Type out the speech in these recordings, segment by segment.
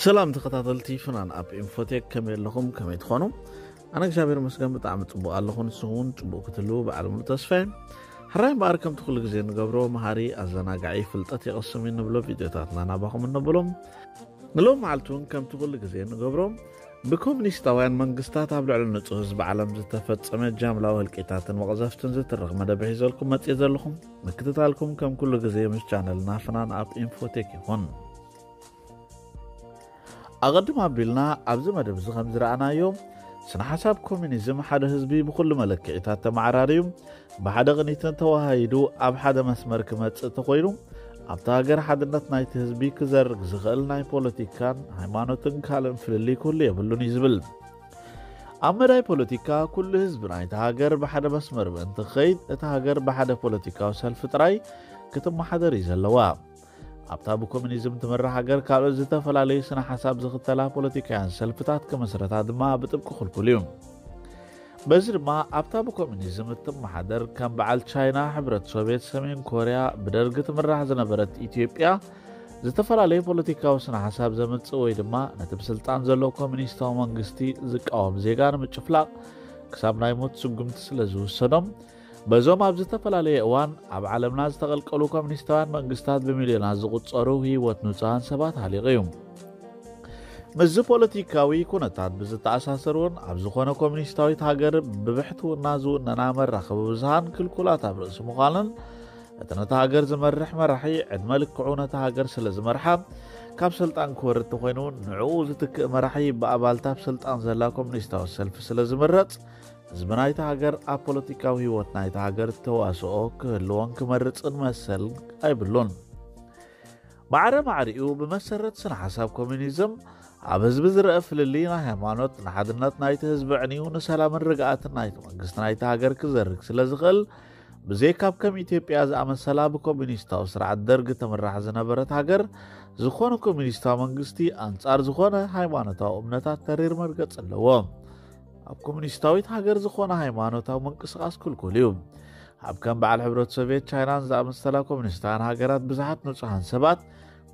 ሰላም ተኸታተልቲ ፍናን ኣፕ ኢንፎቴክ፣ ከመይ ኣለኹም? ከመይ ትኾኑ? ኣነ እግዚኣብሔር ይመስገን ብጣዕሚ ጽቡቕ ኣለኹ። ንስኹም እውን ጽቡቕ ክትህልዉ በዓል ሙሉ ተስፋ እየ። ሕራይ እምበኣር ከምቲ ኩሉ ግዜ ንገብሮ መሃሪ፣ ኣዘናጋዒ፣ ፍልጠት የቐስም እዩ እንብሎ ቪድዮታትና ናባኹም እነብሎም። ንሎም መዓልቲ እውን ከምቲ ኩሉ ግዜ ንገብሮ ብኮሙኒስታውያን መንግስታት ኣብ ልዕሊ ንጹህ ህዝቢ ዓለም ዝተፈጸመ ጃምላዊ ህልቂታትን መቕዘፍትን ዝትርኽ መደብ ሒዘልኩም መጽእ ዘለኹም። ምክትታልኩም ከም ኩሉ ግዜ ምስ ቻነልና ፍናን ኣፕ ኢንፎቴክ ይኹን። ኣቐድም ኣቢልና ኣብዚ መደብ እዚ ከም ዝረኣናዮ፣ ስነ ሓሳብ ኮሚኒዝም ሓደ ህዝቢ ብኹሉ መለክዒታት ተመዓራርዩ ብሓደ ቅኒትን ተዋሃሂዱ ኣብ ሓደ መስመር ክመጽእ ተኾይኑ፣ ኣብታ ሃገር ሓድነት ናይቲ ህዝቢ ክዘርግ ዝኽእል ናይ ፖለቲካን ሃይማኖትን ካልእን ፍልልይ ክህሉ የብሉን እዩ ዝብል። ኣብ መዳይ ፖለቲካ ኩሉ ህዝቢ ናይቲ ሃገር ብሓደ መስመር ምእንቲ ክኸይድ፣ እታ ሃገር ብሓደ ፖለቲካዊ ሰልፊ ጥራይ ክትመሓደር እዩ ዘለዋ። ኣብታ ብኮሚኒዝም ትምራሕ ሃገር ካልኦት ዝተፈላለዩ ስነ ሓሳብ ዝኽተላ ፖለቲካውያን ሰልፍታት ክምስረታ ድማ ብጥብቂ ክልኩል እዩ። በዚ ድማ ኣብታ ብኮሚኒዝም እትመሓደር ከም በዓል ቻይና፣ ሕብረት ሶቪየት፣ ሰሜን ኮርያ፣ ብደርጊ ትምራሕ ዝነበረት ኢትዮጵያ፣ ዝተፈላለዩ ፖለቲካዊ ስነ ሓሳብ ዘምጽእ ወይ ድማ ነቲ ብስልጣን ዘሎ ኮሚኒስታዊ መንግስቲ ዝቃወም ዜጋ ንምጭፍላቕ ክሳብ ናይ ሞት ስጉምቲ ስለ ዝውሰዶም፣ በዞም ኣብ ዝተፈላለየ እዋን ኣብ ዓለምና ዝተቐልቀሉ ኮሚኒስታውያን መንግስታት ብሚልዮናት ዝቑጸሩ ህይወት ንጹሃን ሰባት ሃሊቑ እዩ። ምስዚ ፖለቲካዊ ኩነታት ብዝተኣሳሰር እውን ኣብ ዝኾነ ኮሚኒስታዊት ሃገር ብብሕትውና ዝውነና መራኸቢ ብዙሃን ክልኩላት ኣብ ርእሲ ምዃንን፣ እቲ ነታ ሃገር ዝመርሕ መራሒ ዕድመ ልክዑ ነታ ሃገር ስለ ዝመርሓ፣ ካብ ስልጣን ክወርድ ተኾይኑ ንዕኡ ዝትክእ መራሒ ብኣባልታ ኣብ ስልጣን ዘላ ኮሚኒስታዊት ሰልፊ ስለ ዝምረጽ፣ ህዝቢ ናይታ ሃገር ኣብ ፖለቲካዊ ህይወት ናይታ ሃገር ተዋስኦ ክህልዎን ክመርጽን መሰል ኣይብሉን። ማዕረ ማዕሪኡ ብመሰረት ስነ ሓሳብ ኮሚኒዝም ኣብ ህዝቢ ዝረአ ፍልልይ ናይ ሃይማኖት ንሓድነት ናይቲ ህዝቢ ዕንዩ ንሰላምን ርግኣትን ናይቲ መንግስቲ ናይቲ ሃገር ክዘርግ ስለ ዝኽእል፣ ብዘይካብ ከም ኢትዮጵያ ዝኣመሰላ ብኮሚኒስታዊ ስርዓት ደርግ ትምራሕ ዝነበረት ሃገር፣ ዝኾነ ኮሚኒስታዊ መንግስቲ ኣንጻር ዝኾነ ሃይማኖታዊ እምነታት ተሪር መርገጺ ኣለዎ። ኣብ ኮሚኒስታዊት ሃገር ዝኾነ ሃይማኖታዊ ምንቅስቓስ ክልኩል እዩ። ኣብ ከም በዓል ሕብረት ሶቪየት ቻይናን ዝኣመሰላ ኮሚኒስታውያን ሃገራት ብዙሓት ንጹሃን ሰባት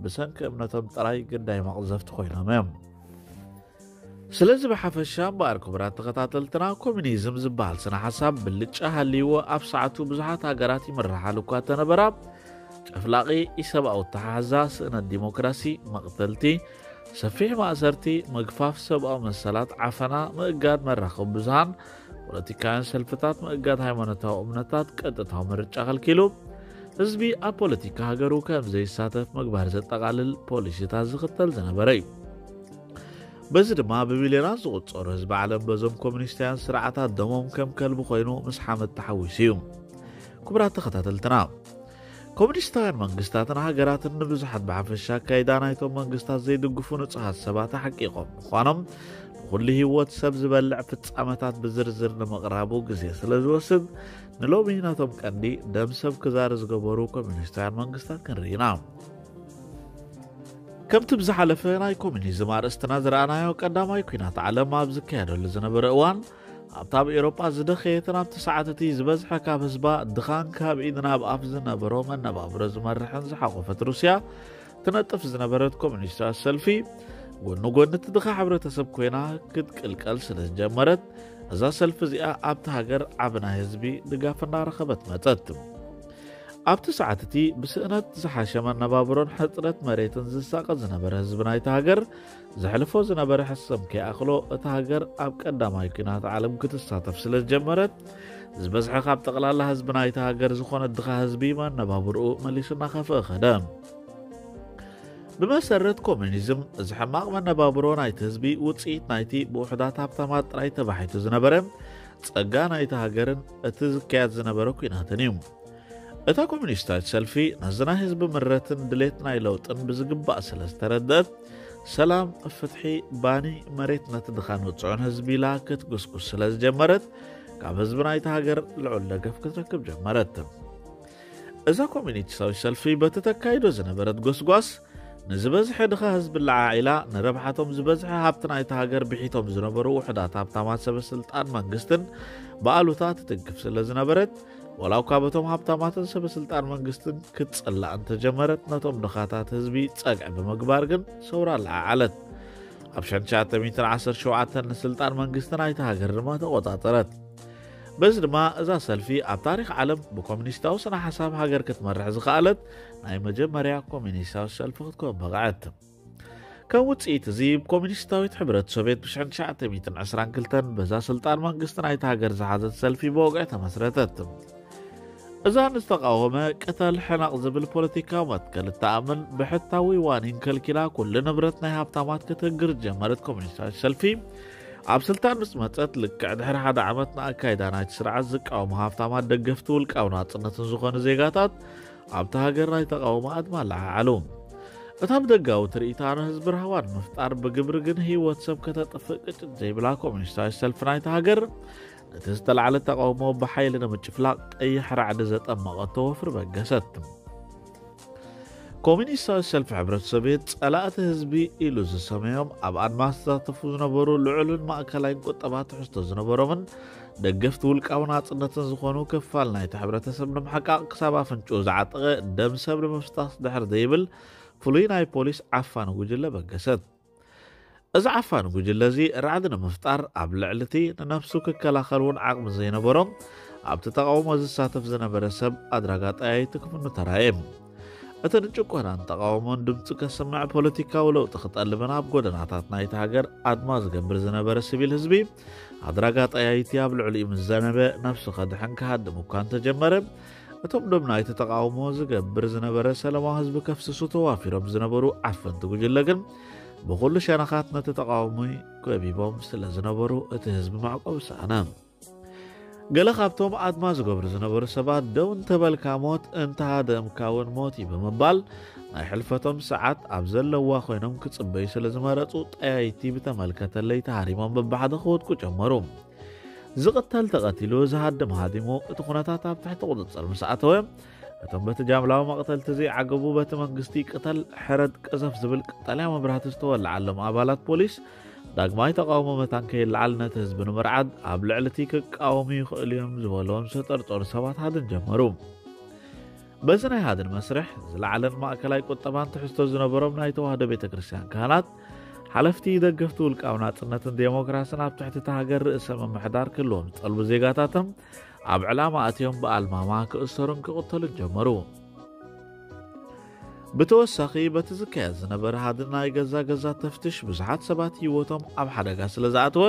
ብሰንኪ እምነቶም ጥራይ ግዳይ መቕዘፍቲ ኮይኖም እዮም። ስለዚ ብሓፈሻ እምበኣር ክቡራት ተኸታተልትና፣ ኮሚኒዝም ዝበሃል ስነ ሓሳብ ብልጫ ሃልይዎ ኣብ ሰዓቱ ብዙሓት ሃገራት ይምርሓሉ እኳ እንተነበራ፣ ጨፍላቒ ኢሰብኣዊ ኣተሓሕዛ፣ ስእነት ዲሞክራሲ፣ መቕተልቲ፣ ሰፊሕ ማእሰርቲ፣ ምግፋፍ ሰብኣዊ መሰላት፣ ዓፈና፣ ምእጋድ መራኸቢ ብዙሃን፣ ፖለቲካውያን ሰልፍታት፣ ምእጋድ ሃይማኖታዊ እምነታት፣ ቀጥታዊ ምርጫ ከልኪሉ፣ ህዝቢ ኣብ ፖለቲካ ሃገሩ ከም ዘይሳተፍ ምግባር ዘጠቓልል ፖሊሲታት ዝኽተል ዝነበረ እዩ። በዚ ድማ ብሚልዮናት ዝቑጸሩ ህዝቢ ዓለም በዞም ኮሚኒስታውያን ስርዓታት ደሞም ከም ከልቢ ኮይኑ ምስ ሓመድ ተሓዊሱ እዩ። ክቡራት ተኸታተልትና፣ ኮሚኒስታውያን መንግስታትን ሃገራትን ንብዙሓት ብሓፈሻ ኣካይዳ ናይቶም መንግስታት ዘይድግፉ ንጹሃት ሰባት ኣሕቂቖም ምዃኖም፣ ንኹሉ ህይወት ሰብ ዝበልዕ ፍጻመታት ብዝርዝር ንምቕራቡ ግዜ ስለ ዝወስድ፣ ንሎሚ ነቶም ቀንዲ ደም ሰብ ክዛሪ ዝገበሩ ኮሚኒስታውያን መንግስታት ክንርኢ ኢና። ከምቲ ብዝሓለፈ ናይ ኮሚኒዝም ኣርእስትና ዝረኣናዮ፣ ቀዳማይ ኲናት ዓለም ኣብ ዝካየደሉ ዝነበረ እዋን፣ ኣብታ ኣብ ኤውሮጳ ዝደኸየትን ኣብቲ ሰዓት እቲ ዝበዝሐ ካብ ህዝባ ድኻን ካብ ኢድ ናብ ኣፍ ዝነበሮ መነባብሮ ዝመርሕን ዝሓቖፈት ሩስያ ትነጥፍ ዝነበረት ኮሚኒስታዊት ሰልፊ፣ ጎኒ ጎኒ እቲ ድኻ ሕብረተሰብ ኮይና ክትቅልቀል ስለ ዝጀመረት፣ እዛ ሰልፊ እዚኣ ኣብቲ ሃገር ዓቢ ናይ ህዝቢ ድጋፍ እናረኸበት መጸት። ኣብቲ ሰዓት እቲ ብስእነት ዝሓሸ መነባብሮን ሕጽረት መሬትን ዝሳቐ ዝነበረ ህዝቢ ናይቲ ሃገር፣ ዘሕልፎ ዝነበረ ሕሰም ከይኣኽሎ፣ እታ ሃገር ኣብ ቀዳማይ ኲናት ዓለም ክትሳተፍ ስለ ዝጀመረት፣ ዝበዝሐ ካብ ጠቕላላ ህዝቢ ናይቲ ሃገር ዝኾነ ድኻ ህዝቢ መነባብርኡ መሊሱ እናኸፍአ ኸደ። ብመሰረት ኮሙኒዝም፣ እዚ ሕማቕ መነባብሮ ናይቲ ህዝቢ ውጽኢት ናይቲ ብውሑዳት ሃብታማት ጥራይ ተባሒቱ ዝነበረ ጸጋ ናይቲ ሃገርን እቲ ዝካየድ ዝነበረ ኲናትን እዩ። እታ ኮሙኒስታዊት ሰልፊ ነዚ ናይ ህዝቢ ምረትን ድሌት ናይ ለውጥን ብዝግባእ ስለ ዝተረድአት፣ ሰላም፣ ፍትሒ፣ ባኒ፣ መሬት ነቲ ድኻን ውጽዑን ህዝቢ ኢላ ክትጉስጉስ ስለ ዝጀመረት፣ ካብ ህዝቢ ናይቲ ሃገር ልዑል ደገፍ ክትረክብ ጀመረት። እዛ ኮሙኒስታዊት ሰልፊ በቲ ተካይዶ ዝነበረት ጎስጓስ፣ ንዝበዝሐ ድኻ ህዝቢ ለዓዒላ፣ ንረብሓቶም ዝበዝሐ ሃብቲ ናይቲ ሃገር ብሒቶም ዝነበሩ ውሑዳት ሃብታማት ሰበ ስልጣን መንግስትን ብኣሉታ ትትንክፍ ስለ ዝነበረት፣ ወላ እኳ በቶም ሃብታማትን ሰበ ስልጣን መንግስትን ክትጽላእ እንተጀመረት፣ ነቶም ድኻታት ህዝቢ ጸግዒ ብምግባር ግን ሰውራ ለዓዓለት። ኣብ ሽሕን ትሽዓተ ሚእትን ዓሰርተ ሸውዓተን ንስልጣን መንግስቲ ናይቲ ሃገር ድማ ተቖጻጸረት። በዚ ድማ እዛ ሰልፊ ኣብ ታሪኽ ዓለም ብኮሚኒስታዊ ስነ ሓሳብ ሃገር ክትመርሕ ዝኸኣለት ናይ መጀመርያ ኮሚኒስታዊ ሰልፊ ክትከውን በቕዐት። ከም ውጽኢት እዚ፣ ኮሚኒስታዊት ሕብረት ሶቪየት ብ ሽሕን ትሽዓተ ሚእትን ዕስራን ክልተን በዛ ስልጣን መንግስቲ ናይቲ ሃገር ዝሓዘት ሰልፊ ብወግዒ ተመስረተት። እዛ ንዝተቃወመ ቅተል ሕነቕ ዝብል ፖለቲካዊ መትከል እትኣምን፣ ብሕታዊ ዋኒን ከልኪላ ኩሉ ንብረት ናይ ሃብታማት ክትህግር ዝጀመረት ኮሚኒስታዊት ሰልፊ፣ ኣብ ስልጣን ምስ መጸት ልክዕ ድሕሪ ሓደ ዓመት ንኣካይዳ ናይቲ ስርዓት ዝቃወሙ ሃብታማት ደገፍቲ ውልቃዊ ናጽነትን ዝኾኑ ዜጋታት ኣብቲ ሃገር ናይ ተቃውሞ ኣድማ ኣለዓዓሉ። እታ ብደጋዊ ትርኢታ ንህዝቢ ራህዋ ንምፍጣር ብግብሪ ግን ህይወት ሰብ ከተጥፍእ ቅጭት ዘይብላ ኮሚኒስታዊት ሰልፊ ናይቲ ሃገር፣ ነቲ ዝተላዕለ ተቃውሞ ብሓይሊ ንምጭፍላቕ ቀይሕ ራዕዲ ዘጠመቐቶ ወፍሪ በገሰት። ኮሚኒስታዊት ሰልፊ ሕብረት ሶቪየት ጸላእቲ ህዝቢ ኢሉ ዝሰመዮም ኣብ ኣድማ ዝተሳተፉ ዝነበሩ ልዑልን ማእከላይን ቁጠባ ትሕዝቶ ዝነበሮምን ደገፍቲ ውልቃዊ ናጽነትን ዝኾኑ ክፋል ናይቲ ሕብረተሰብ ንምሕቃቕ ክሳብ ኣፍንጭኡ ዝዓጠቐ ደም ሰብ ንምፍሳስ ድሕር ዘይብል ፍሉይ ናይ ፖሊስ ዓፋኒ ጉጅለ በገሰት። እዚ ዓፋኒ ጉጅለ እዚ ራዕዲ ንምፍጣር ኣብ ልዕሊ እቲ ንነብሱ ክከላኸል እውን ዓቕሚ ዘይነበሮም ኣብቲ ተቃውሞ ዝሳተፍ ዝነበረ ሰብ ኣድራጋ ጠያይቲ ክፍኑ ተራእየ። እቲ ንጭቆናን ተቃውሞን ድምፂ ከስምዕ ፖለቲካዊ ለውጢ ክጠልብን ኣብ ጎደናታት ናይቲ ሃገር ኣድማ ዝገብር ዝነበረ ሲቪል ህዝቢ ኣድራጋ ጠያይቲ ኣብ ልዕሊኡ ምስ ዘነበ ነብሱ ከድሕን ክሃድም እኳ እንተጀመረ እቶም ደም ናይቲ ተቃውሞ ዝገብር ዝነበረ ሰላማዊ ህዝቢ ከፍስሱ ተዋፊሮም ዝነበሩ ዓፈንቲ ጉጅለ ግን ብኹሉ ሸነኻት ነቲ ተቃውሞ ከቢቦም ስለ ዝነበሩ እቲ ህዝቢ መዕቆቢ ሰኣነ። ገለ ካብቶም ኣድማ ዝገብሩ ዝነበሩ ሰባት ደው እንተበልካ ሞት እንተሃደምካ እውን ሞት እዩ ብምባል ናይ ሕልፈቶም ሰዓት ኣብ ዘለዋ ኮይኖም ክጽበዩ ስለ ዝመረጹ ጠያይቲ ብተመልከተለይ ተሃሪሞም በብሓደ ክወድቁ ጀመሩ። ዝቕተል ተቐቲሉ ዝሃድም ሃዲሙ እቲ ኩነታት ኣብ ትሕቲ ቁጽጽር ምስ ኣተወ እቶም በቲ ጃምላዊ መቕተልቲ ዘይዓገቡ በቲ መንግስቲ ቅተል ሕረድ ቅዘፍ ዝብል ቀጠልያ መብራህቲ ዝተወልዓሎም ኣባላት ፖሊስ ዳግማይ ተቃውሞ መታን ከይለዓል ነቲ ህዝቢ ንምርዓድ ኣብ ልዕሊ እቲ ክቃወሙ ይኽእሉ እዮም ዝበሎም ዝተጠርጠሩ ሰባት ሃድን ጀመሩ። በዚ ናይ ሃድን መስርሕ ዝለዓለን ማእከላይ ቁጠባን ትሕዝቶ ዝነበሮም ናይ ተዋህዶ ቤተ ክርስቲያን ካህናት ሓለፍቲ ደገፍቲ ውልቃዊ ናጽነትን ዴሞክራስን ኣብ ትሕቲ እቲ ሃገር ርእሰ ምምሕዳር ክህልዎም ዝጠልቡ ዜጋታቶም ኣብ ዕላማ ኣትዮም ብኣልማማ ክእሰሩን ክቕተሉን ጀመሩ። ብተወሳኺ በቲ ዝካየድ ዝነበረ ሃድን ናይ ገዛ ገዛ ተፍትሽ ብዙሓት ሰባት ህይወቶም ኣብ ሓደጋ ስለ ዝኣተወ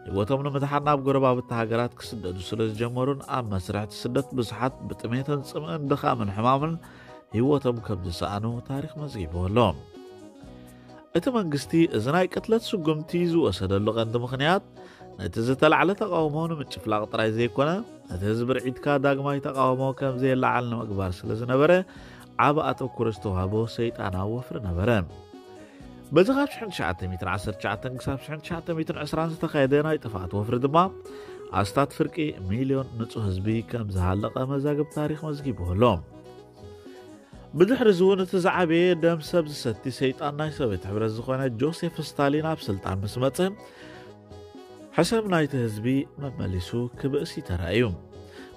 ህይወቶም ንምድሓን ናብ ጎረባብቲ ሃገራት ክስደዱ ስለ ዝጀመሩን ኣብ መስርሕ እቲ ስደት ብዙሓት ብጥሜትን ጽምእን ድኻምን ሕማምን ህይወቶም ከም ዝሰኣኑ ታሪኽ መዝጊብዎ ኣሎ። እቲ መንግስቲ እዚ ናይ ቅትለት ስጉምቲ ዝወሰደሉ ቀንዲ ምኽንያት ነቲ ዝተላዕለ ተቃውሞ ንምጭፍላቕ ጥራይ ዘይኮነ ነቲ ህዝቢ ርዒትካ ዳግማይ ተቃውሞ ከም ዘየለዓል ንምግባር ስለ ዝነበረ ዓቢ ኣተኩሮ ዝተዋህቦ ሰይጣናዊ ወፍሪ ነበረ። በዚ ካብ ሽሕን ትሽዓተ ሚእትን ዓሰርተ ትሽዓተን ክሳብ ሽሕን ትሽዓተ ሚእትን ዕስራን ዝተኻየደ ናይ ጥፍኣት ወፍሪ ድማ ኣስታት ፍርቂ ሚልዮን ንጹህ ህዝቢ ከም ዝሃለቐ መዛግብ ታሪኽ መዝጊቡ ኣሎ። ብድሕሪ እዚ እውን እቲ ዝዓበየ ደም ሰብ ዝሰቲ ሰይጣን ናይ ሶቪየት ሕብረት ዝኾነ ጆሴፍ ስታሊን ኣብ ስልጣን ምስ መጸ ሕሰም ናይቲ ህዝቢ መመሊሱ ክብእሲ ተራእዩ።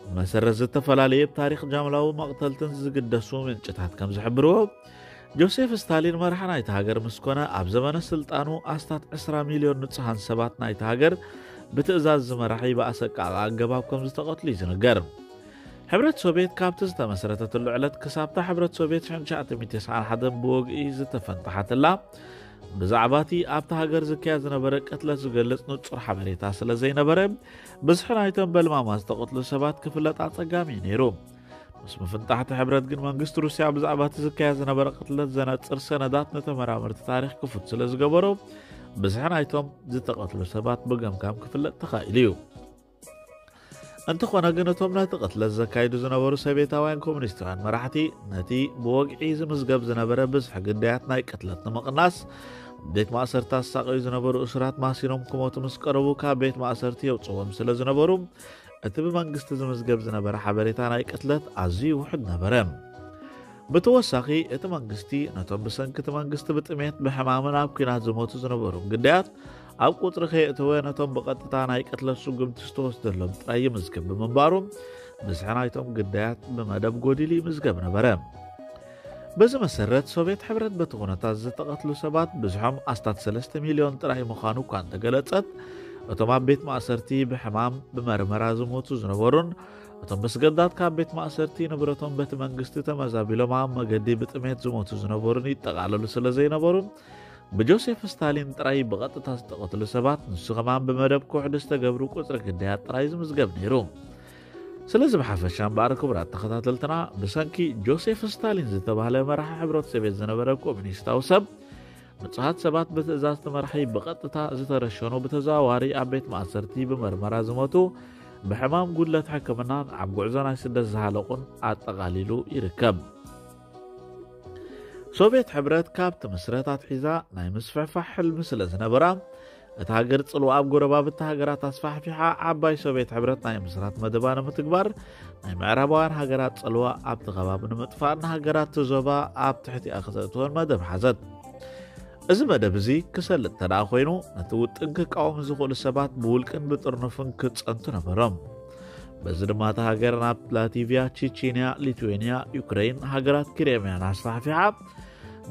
ብመሰረት ዝተፈላለየ ብታሪኽ ጃምላዊ መቕተልትን ዝግደሱ ምንጭታት ከም ዝሕብርዎ ጆሴፍ ስታሊን መራሒ ናይቲ ሃገር ምስ ኮነ ኣብ ዘመነ ስልጣኑ ኣስታት ዕስራ ሚልዮን ንጹሃን ሰባት ናይቲ ሃገር ብትእዛዝ ዝመራሕ ብኣሰቃቂ ኣገባብ ከም ዝተቐትሉ እዩ ዝንገር። ሕብረት ሶቪየት ካብቲ ዝተመስረተትሉ ዕለት ክሳብታ ሕብረት ሶቪየት ሽሕን ትሽዓተ ሚእትን ተስዓን ሓደን ብወግኢ ዝተፈንጠሓትላ ብዛዕባ እቲ ኣብቲ ሃገር ዝካየድ ዝነበረ ቅትለት ዝገልጽ ንጹር ሓበሬታ ስለ ዘይነበረ ብዝሒ ናይቶም በልማማ ዝተቐትሉ ሰባት ክፍለጥ ኣጸጋሚ እዩ ነይሩ። ምስ ምፍንጣሕቲ ሕብረት ግን መንግስቲ ሩስያ ብዛዕባ እቲ ዝካየድ ዝነበረ ቅትለት ዘነጽር ሰነዳት ንተመራመርቲ ታሪኽ ክፉት ስለ ዝገበሮ ብዝሒ ናይቶም ዝተቐትሉ ሰባት ብገምጋም ክፍለጥ ተኻኢሉ እዩ። እንተኾነ ግን እቶም ነቲ ቅትለት ዘካይዱ ዝነበሩ ሶቪየታውያን ኮሙኒስታውያን መራሕቲ ነቲ ብወግዒ ዝምዝገብ ዝነበረ ብዝሒ ግዳያት ናይ ቅትለት ንምቕናስ ቤት ማእሰርቲ ኣሳቀዩ ዝነበሩ እሱራት ማሲኖም ክሞቱ ምስ ቀረቡ ካብ ቤት ማእሰርቲ የውፅዎም ስለ ዝነበሩ እቲ ብመንግስቲ ዝምዝገብ ዝነበረ ሓበሬታ ናይ ቅትለት ኣዝዩ ውሑድ ነበረ። ብተወሳኺ እቲ መንግስቲ ነቶም ብሰንኪ እቲ መንግስቲ ብጥሜት ብሕማምን ኣብ ኲናት ዝሞቱ ዝነበሩ ግዳያት ኣብ ቁፅሪ ከየእተወ ነቶም ብቐጥታ ናይ ቅትለት ስጉምቲ ዝተወስደሎም ጥራይ ይምዝግብ ብምንባሩ ብዝሒ ናይቶም ግዳያት ብመደብ ጎዲሉ ይምዝገብ ነበረ። በዚ መሰረት፣ ሶቪየት ሕብረት በቲ ኩነታት ዝተቐትሉ ሰባት ብዝሖም ኣስታት ሰለስተ ሚልዮን ጥራይ ምዃኑ እኳ እንተገለጸት፣ እቶም ኣብ ቤት ማእሰርቲ ብሕማም ብመርመራ ዝሞቱ ዝነበሩን እቶም ብስገዳት ካብ ቤት ማእሰርቲ ንብረቶም በቲ መንግስቲ ተመዛቢሎም ኣብ መገዲ ብጥሜት ዝሞቱ ዝነበሩን ይጠቓለሉ ስለ ዘይነበሩ፣ ብጆሴፍ ስታሊን ጥራይ ብቐጥታ ዝተቐትሉ ሰባት፣ ንሱ ከማን ብመደብ ክውሕዱ ዝተገብሩ ቁጽሪ ግዳያት ጥራይ ዝምዝገብ ነይሩ። ስለዚ ብሓፈሻ እምበኣር፣ ክቡራት ተኸታተልትና፣ ብሰንኪ ጆሴፍ ስታሊን ዝተባህለ መራሒ ሕብረት ሶቪየት ዝነበረ ኮሚኒስታዊ ሰብ፣ ንጹሃት ሰባት ብትእዛዝ እቲ መራሒ ብቐጥታ ዝተረሸኑ፣ ብተዘዋዋሪ ኣብ ቤት ማእሰርቲ ብመርመራ ዝሞቱ፣ ብሕማም ጉድለት ሕክምናን ኣብ ጉዕዞ ናይ ስደት ዝሃለቑን ኣጠቓሊሉ ይርከብ። ሶቪየት ሕብረት ካብ ትምስረት ኣትሒዛ ናይ ምስፍሕፋሕ ሕልሚ ስለ ዝነበራ፣ እታ ሃገር ጽልዋ ኣብ ጎረባብቲ ሃገራት ኣስፋሕፊሓ፣ ዓባይ ሶቪየት ሕብረት ናይ ምስራት መደባ ንምትግባር፣ ናይ ምዕራባውያን ሃገራት ጽልዋ ኣብቲ ከባቢ ንምጥፋእ፣ ንሃገራት እቲ ዞባ ኣብ ትሕቲኣ ክተእትወን መደብ ሓዘት። እዚ መደብ እዚ ክሰልጥ እንተ ደኣ ኮይኑ፣ ነቲ ውጥን ክቃወሙ ዝኽእሉ ሰባት ብውልቅን ብጥርኑፍን ክጸንቱ ነበሮም። በዚ ድማ እታ ሃገር ናብ ላቲቪያ፣ ቺቺንያ፣ ሊትዌንያ፣ ዩክሬን፣ ሃገራት ክሬምያን ኣስፋሕፊሓ፣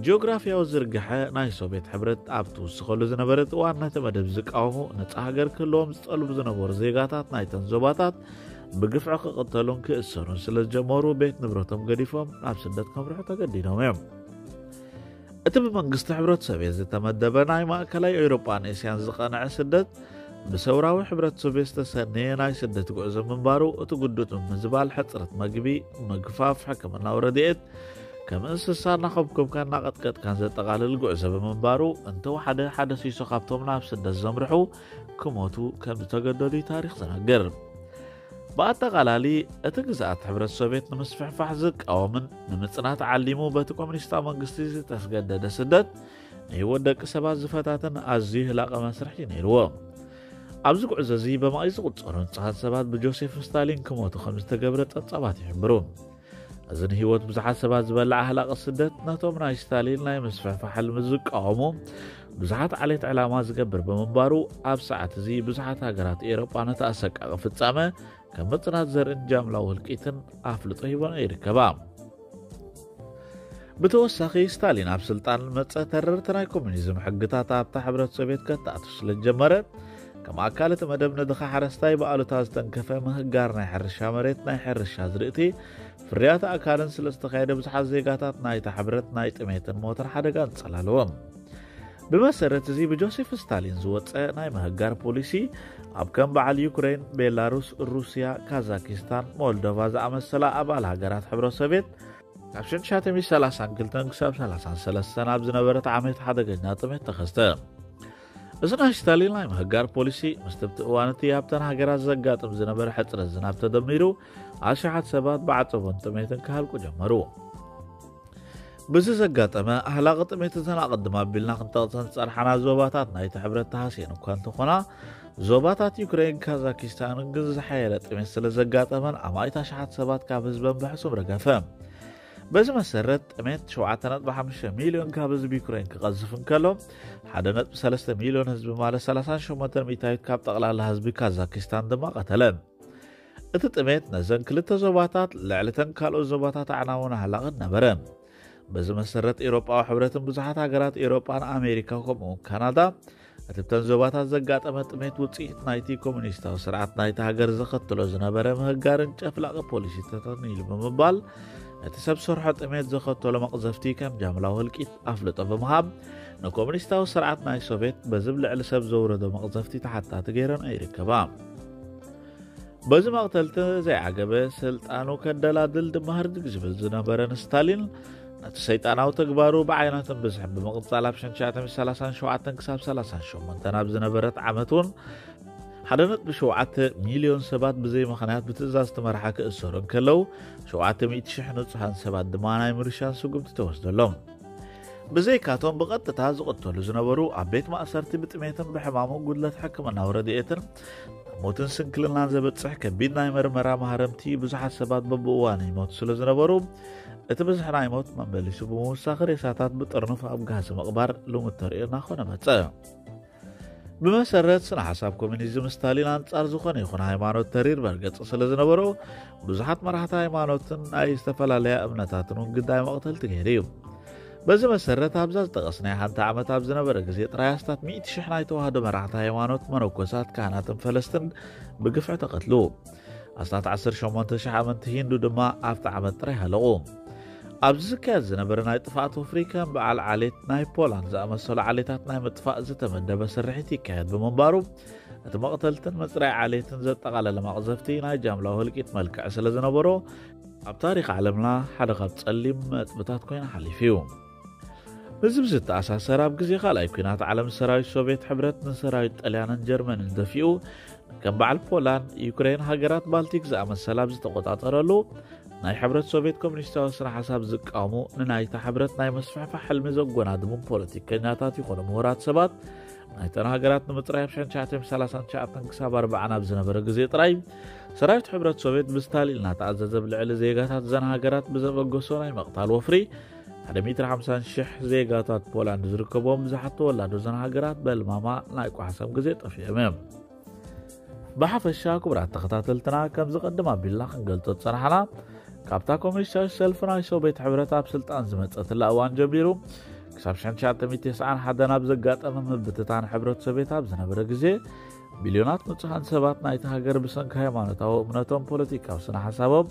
ጂኦግራፊያዊ ዝርግሐ ናይ ሶቪየት ሕብረት ኣብ ትውስኸሉ ዝነበረት እዋን፣ ነቲ መደብ ዝቃወሙ፣ ነጻ ሃገር ክህልዎም ዝጠልቡ ዝነበሩ ዜጋታት ናይተን ዞባታት ብግፍዒ ክቕተሉን ክእሰሩን ስለ ዝጀመሩ፣ ቤት ንብረቶም ገዲፎም ናብ ስደት ከምርሑ ተገዲዶም እዮም። እቲ ብመንግስቲ ሕብረት ሶቪየት ዝተመደበ ናይ ማእከላይ ኤውሮጳን ኤስያን ዝቐንዐ ስደት፣ ብሰውራዊ ሕብረት ሶቪየት ዝተሰነየ ናይ ስደት ጉዕዞ ምንባሩ፣ እቲ ግዱድ ምምዝባል፣ ሕጽረት መግቢ፣ ምግፋፍ፣ ሕክምናዊ ረድኤት፣ ከም እንስሳ እናኸብከብካን እናቐጥቀጥካን ዘጠቓልል ጉዕዞ ብምንባሩ፣ እንተወሓደ ሓደ ሲሶ ካብቶም ናብ ስደት ዘምርሑ ክሞቱ ከም ዝተገደዱ እዩ ታሪኽ ዝነግር። ብኣጠቓላሊ፣ እቲ ግዝኣት ሕብረት ሶቪየት ንምስፍሕፋሕ ዝቃወምን ንምጽናት ዓሊሙ በቲ ኮሚኒስታዊ መንግስቲ ዝተስገደደ ስደት፣ ንህይወት ደቂ ሰባት ዝፈታተን ኣዝዩ ህላቐ መስርሕ እዩ ነይርዎ። ኣብዚ ጉዕዞ እዚ ብመኣይ ዝቑጸሩ ንጹሃት ሰባት ብጆሴፍ ስታሊን ክሞቱ ከም ዝተገብረ ጸብጻባት ይሕብሩ። እዚ ንህይወት ብዙሓት ሰባት ዝበልዓ ህላቐ ስደት፣ ነቶም ናይ ስታሊን ናይ ምስፍሕፋሕ ሕልሚ ዝቃወሙ ብዙሓት ዓሌት ዕላማ ዝገብር ብምንባሩ፣ ኣብ ሰዓት እዚ ብዙሓት ሃገራት ኤውሮጳ ነቲ ኣሰቃቒ ፍጻመ ከም ምጽናት ዘርእን ጃምላዊ ህልቂትን ኣፍልጦ ሂቦን ይርከባ። ብተወሳኺ፣ ስታሊን ኣብ ስልጣን መጸ፣ ተረርቲ ናይ ኮሙኒዝም ሕግታት ኣብታ ሕብረት ሶቪየት ከተኣቱ ስለ ዝጀመረ፣ ከም ኣካል እቲ መደብ፣ ንድኻ ሓረስታይ ብኣሉታ ዝተንከፈ ምህጋር ናይ ሕርሻ መሬት፣ ናይ ሕርሻ ዝርእቲ፣ ፍርያት ኣእካልን ስለ ዝተኻየደ፣ ብዙሓት ዜጋታት ናይታ ሕብረት ናይ ጥሜትን ሞትን ሓደጋ ኣንጸላለዎም። ብመሰረት እዚ፣ ብጆሴፍ ስታሊን ዝወጸ ናይ ምህጋር ፖሊሲ፣ ኣብ ከም በዓል ዩክሬን፣ ቤላሩስ፣ ሩስያ፣ ካዛኪስታን፣ ሞልዶቫ ዝኣመሰላ ኣባል ሃገራት ሕብረት ሶቪየት፣ ካብ ሸንሻተ ሚእቲ ሰላሳን ክልተን ክሳብ ሰላሳን ሰለስተን ኣብ ዝነበረት ዓመት ሓደገኛ ጥሜት ተኸስተ። እዚ ናይ ስታሊን ናይ ምህጋር ፖሊሲ፣ ምስ ትብቲ እዋን እቲ ኣብተን ሃገራት ዘጋጥም ዝነበረ ሕጽረት ዝናብ ተደሚሩ፣ ኣሽሓት ሰባት ብዓጸቦን ጥሜትን ክሃልቁ ጀመሩ። ብዚ ዘጋጠመ ኣህላቂ ጥሜት፣ እተን ኣቐድም ኣቢልና ክንጠቕሰን ዝጸንሓና ዞባታት ናይቲ ሕብረት ተሃስየን እኳ እንተኾና፣ ዞባታት ዩክሬን፣ ካዛኪስታንን ግን ዝሓየለ ጥሜት ስለ ዘጋጠመን፣ ኣማኢት ኣሽሓት ሰባት ካብ ህዝበን ብሕሱም ረገፈ። በዚ መሰረት፣ ጥሜት ሸውዓተ ነጥቢ ሓሙሽተ ሚልዮን ካብ ህዝቢ ዩክሬን ክቐዝፍ እንከሎ፣ ሓደ ነጥቢ ሰለስተ ሚልዮን ህዝቢ፣ ማለት ሰላሳን ሸሞንተን ሚእታዊት ካብ ጠቕላላ ህዝቢ ካዛኪስታን ድማ ቀተለ። እቲ ጥሜት ነዘን ክልተ ዞባታት ልዕሊ እተን ካልኦት ዞባታት ኣዕናዊ ኣህላቕን ነበረ። በዚ መሰረት፣ ኤውሮጳዊ ሕብረትን ብዙሓት ሃገራት ኤውሮጳን ኣሜሪካ፣ ከምኡውን ካናዳ፣ እቲ ብተን ዞባታት ዘጋጠመ ጥሜት ውጽኢት ናይቲ ኮሙኒስታዊ ስርዓት ናይቲ ሃገር ዘኸትሎ ዝነበረ ምህጋርን ጨፍላቒ ፖሊሲታትን ኢሉ ብምባል፣ እቲ ሰብ ሰርሖ ጥሜት ዘኸተሎ መቕዘፍቲ ከም ጃምላዊ ህልቂት ኣፍልጦ ብምሃብ፣ ንኮሙኒስታዊ ስርዓት ናይ ሶቪየት በዚ ብልዕሊ ሰብ ዘውረዶ መቕዘፍቲ ተሓታቲ ገይረን ይርከባ። በዚ መቕተልቲ ዘይዓገበ ስልጣኑ ከደላድል ድማ ህርድግ ዝብል ዝነበረ ንስታሊን፣ ነቲ ሰይጣናዊ ተግባሩ ብዓይነትን ብዝሕን ብምቕጻል፣ ኣብ ሸንሻተ ሚእቲ ሰላሳን ሸውዓተን ክሳብ ሰላሳን ሸሞንተን ኣብ ዝነበረት ዓመት እውን ሓደ ነጥቢ ሸውዓተ ሚልዮን ሰባት ብዘይ ምኽንያት ብትእዛዝ እቲ መራሒ ክእሰሩ እንከለዉ፣ ሸውዓተ ሚእቲ ሽሕ ንጹሃን ሰባት ድማ ናይ ምርሻን ስጉምቲ ተወስደሎም። ብዘይካቶም ብቐጥታ ዝቕተሉ ዝነበሩ፣ ኣብ ቤት ማእሰርቲ ብጥሜትን ብሕማምን ጉድለት ሕክምናዊ ረድኤትን ሞትን ስንክልናን ዘበጽሕ ከቢድ ናይ መርመራ ማህረምቲ፣ ብዙሓት ሰባት በብእዋኑ ይሞቱ ስለ ዝነበሩ፣ እቲ ብዝሒ ናይ ሞት መመሊሱ ብምውሳኽ፣ ሬሳታት ብጥርኑፍ ኣብ ጋህሲ ምቕባር ልሙድ ተርእዮ እናኾነ መጸ። ብመሰረት ስነ ሓሳብ ኮሚኒዝም፣ ስታሊን ኣንጻር ዝኾነ ይኹን ሃይማኖት ተሪር መርገጺ ስለ ዝነበሮ፣ ብዙሓት መራሕቲ ሃይማኖትን ናይ ዝተፈላለያ እምነታትን እውን ግዳይ መቕተልቲ ገይሩ እዩ። በዚ መሰረት ኣብዛ ዝጠቐስናያ ሓንቲ ዓመት ኣብ ዝነበረ ግዜ ጥራይ ኣስታት ሚእቲ ሽሕ ናይ ተዋህዶ መራሕቲ ሃይማኖት፣ መነኮሳት፣ ካህናትን ፈለስትን ብግፍዒ ተቐትሉ። ኣስታት ዓሰርተ ሸሞንተ ሽሕ ኣመንቲ ሂንዱ ድማ ኣብቲ ዓመት ጥራይ ሃለቑ። ኣብዚ ዝካየድ ዝነበረ ናይ ጥፍኣት ወፍሪ ከም በዓል ዓሌት ናይ ፖላንድ ዝኣመሰሉ ዓሌታት ናይ ምጥፋእ ዝተመደበ ስርሒት ይካየድ ብምንባሩ፣ እቲ መቕተልትን ምጽራይ ዓሌትን ዘጠቓለለ መቕዘፍቲ ናይ ጃምላዊ ህልቂት መልክዕ ስለ ዝነበሮ፣ ኣብ ታሪኽ ዓለምና ሓደ ካብ ጸሊም ነጥብታት ኮይኑ ሓሊፉ እዩ። ምስዚ ብዝተኣሳሰር፣ ኣብ ግዜ ካልኣይ ኲናት ዓለም ሰራዊት ሶቭየት ሕብረት ንሰራዊት ጣልያንን ጀርመንን ደፊኡ፣ ከም በዓል ፖላንድ፣ ዩክሬን፣ ሃገራት ባልቲክ ዝኣመሰላ ኣብ ዝተቆጻጠረሉ፣ ናይ ሕብረት ሶቭየት ኮሚኒስታዊ ስነ ሓሳብ ዝቃወሙ፣ ንናይታ ሕብረት ናይ መስፋሕፋሕ ሕልሚ ዘጎናድቡን ፖለቲከኛታት ይኾኑ ምሁራት ሰባት፣ ናይተን ሃገራት ንምጽራይ ኣብ ሽሕን ትሽዓተ ሚእትን ሰላሳን ትሽዓተን ክሳብ ኣርባዓን ኣብ ዝነበረ ግዜ ጥራይ፣ ሰራዊት ሕብረት ሶቭየት ብስታሊን እናተኣዘዘ፣ ብልዕሊ ዜጋታት እዘን ሃገራት ብዘበገሶ ናይ መቕታል ወፍሪ፣ ሓደ ሚእትን ሓምሳን ሽሕ ዜጋታት ፖላንድ ዝርከብዎም ብዙሓት ተወላዶ እዘን ሃገራት በልማማ ናይ ቋሕሰም ግዜ ጠፊኦም እዮም። ብሓፈሻ፣ ክቡራት ተኸታተልትና፣ ከም ዝቐድም ኣቢልና ክንገልጾ ዝጸናሕና፣ ካብታ ኮሚኒስታዊት ሰልፊ ናይ ሶቭየት ሕብረት ኣብ ስልጣን ዝመጸትላ እዋን ጀሚሩ፣ ክሳብ ሽሕን ትሽዓተ ሚእትን ተስዓን ሓደን ኣብ ዘጋጠመ ምብትታን ሕብረት ሶቭየት ኣብ ዝነበረ ግዜ፣ ቢልዮናት ንጹሃን ሰባት ናይቲ ሃገር ብሰንኪ ሃይማኖታዊ እምነቶም፣ ፖለቲካዊ ስነ ሓሳቦም፣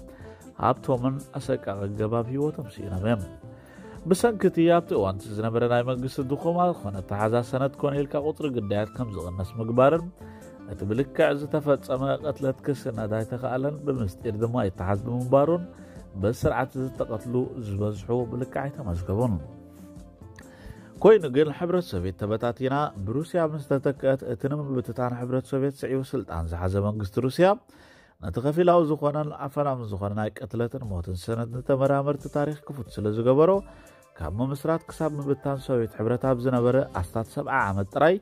ሃብቶምን ኣሰቃቂ ኣገባብ ህይወቶም ስኢኖም እዮም። ብሰንኪ እቲ ኣብቲ እዋን እቲ ዝነበረ ናይ መንግስቲ ድኹማ ዝኾነ ኣተሓዛ ሰነድ ኮነ ኢልካ ቁጽሪ ግዳያት ከም ዝቕነስ ምግባርን፣ እቲ ብልክዕ ዝተፈጸመ ቅትለት ክስነድ ኣይተኻእለን፣ ብምስጢር ድማ ይተሓዝ ብምንባሩን፣ በዚ ስርዓት እዚ ዝተቐትሉ ዝበዝሑ ብልክዕ ኣይተመዝገቡን። ኮይኑ ግን፣ ሕብረት ሶቭየት ተበታቲና ብሩስያ ምስ ተተክአት፣ እቲ ንምብትታን ሕብረት ሶቭየት ስዒቡ ስልጣን ዝሓዘ መንግስቲ ሩስያ፣ ነቲ ከፊላዊ ዝኾነን ኣፈናውን ዝኾነ ናይ ቅትለትን ሞትን ሰነድ ንተመራመርቲ ታሪኽ ክፉት ስለ ዝገበሮ፣ ካብ ምምስራት ክሳብ ምብታን ሶቭየት ሕብረት ኣብ ዝነበረ ኣስታት ሰብዓ ዓመት ጥራይ፣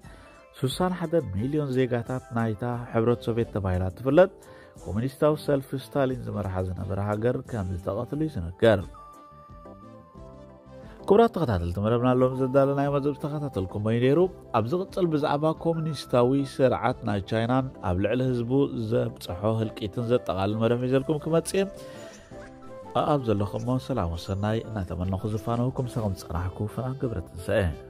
ሱሳን ሓደን ሚልዮን ዜጋታት ናይታ ሕብረት ሶቭየት ተባሂላ እትፍለጥ ኮሙኒስታዊ ሰልፊ ስታሊን ዝመርሓ ዝነበረ ሃገር ከም ዝተቐትሉ እዩ ዝነገር። ክቡራት ተኸታተልቲ መደብና፣ ሎም ዘዳለናዮ መደብ ዝተኸታተልኩም እዩ ነይሩ። ኣብ ዝቕጽል ብዛዕባ ኮሙኒስታዊ ስርዓት ናይ ቻይናን ኣብ ልዕሊ ህዝቡ ዘብጽሖ ህልቂትን ዘጠቓልል መደብ ሒዘልኩም ክመጽእ እየ። ኣኣብ ዘለኹሞ ሰላም ወሰናይ እናተመነኹ ዝፋነውኩም ሰኸም ዝጸናሕኩ ፍናን ገብረ ትንሳኤ።